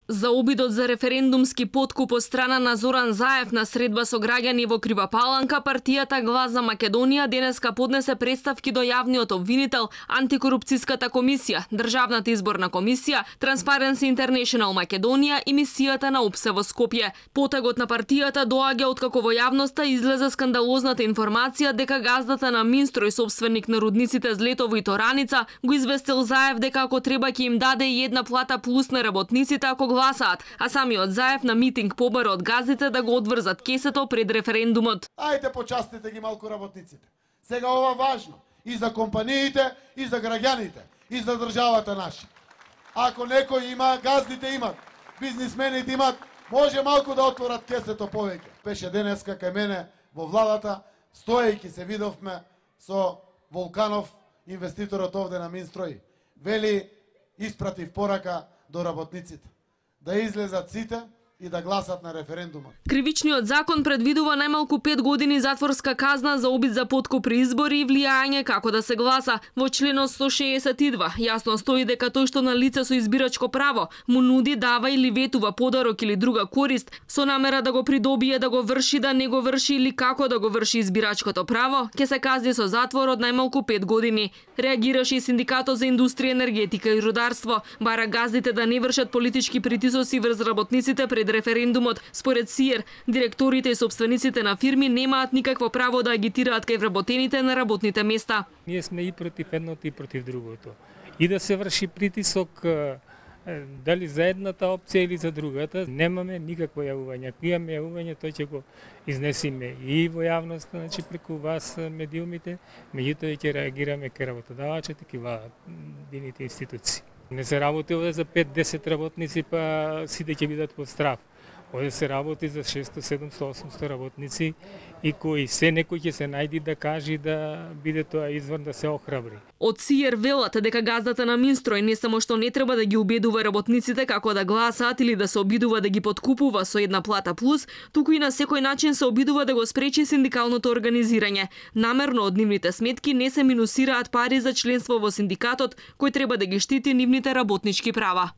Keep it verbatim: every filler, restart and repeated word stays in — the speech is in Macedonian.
За обидот за референдумски подкуп од страна на Зоран Заев на средба со граѓани во Крива Паланка, партијата Глас за Македонија денеска поднесе представки до јавниот обвинител, Антикорупцијската комисија, Државната изборна комисија, Transparency International Македонија и мисијата на ОПСЕ во Скопје. Потагот на партијата доаѓа откако во јавноста излезе скандалозната информација дека газдата на Минстрој, собственик на рудниците Злетово и Тораница, го известил Заев дека ако треба ќе им даде и една плата плюс на работниците ако гласаат, а самиот Заев на митинг побара од газдите да го одврзат кесето пред референдумот. Ајде почастите ги малку работниците. Сега ова важно и за компаниите, и за граѓаните, и за државата наша. Ако некој има, газдите имат, бизнисмените имат, може малку да отворат кесето повеќе. Беше денеска кај мене во владата, стоејќи се видовме со Волканов, инвеститорот овде на Минстрој. Вели, испратив порака до работниците да излезат сите и да гласат на референдумот. Кривичниот закон предвидува најмалку пет години затворска казна за обид за подкуп при избори и влијање како да се гласа. Во членот сто шеесет и два јасно стои дека тој што на лице со избирачко право му нуди, дава или ветува подарок или друга корист со намера да го придобие, да го врши, да не го врши или како да го врши избирачкото право, ќе се казни со затвор од најмалку пет години. Реагираше и Синдикатот за индустрија, енергетика и рударство. Бара газдите да не вршат политички притисоци врз работниците пред референдумот. Според СИЕР, директорите и собствениците на фирми немаат никакво право да агитираат кај вработените на работните места. Ние сме и против едното и против другото. И да се врши притисок дали за едната опција или за другата, немаме никакво јавување. Ако имаме јавување, тој ќе го изнесиме и во јавноста, значи преку вас медиумите, меѓутоа ќе реагираме кај работодавачите, кај владините институции. Не се работи овде за пет-десет работници, па сите ќе бидат под страф. Овде се работи за шестоста, седумстотини, осумстотини работници и кои се некој ќе се најди да каже да биде тоа извор да се охрабри. Од СИЕР велат дека газдата на Минстрој не само што не треба да ги убедува работниците како да гласаат или да се обидува да ги подкупува со една плата плюс, туку и на секој начин се обидува да го спречи синдикалното организирање. Намерно од нивните сметки не се минусираат пари за членство во синдикатот кој треба да ги штити нивните работнички права.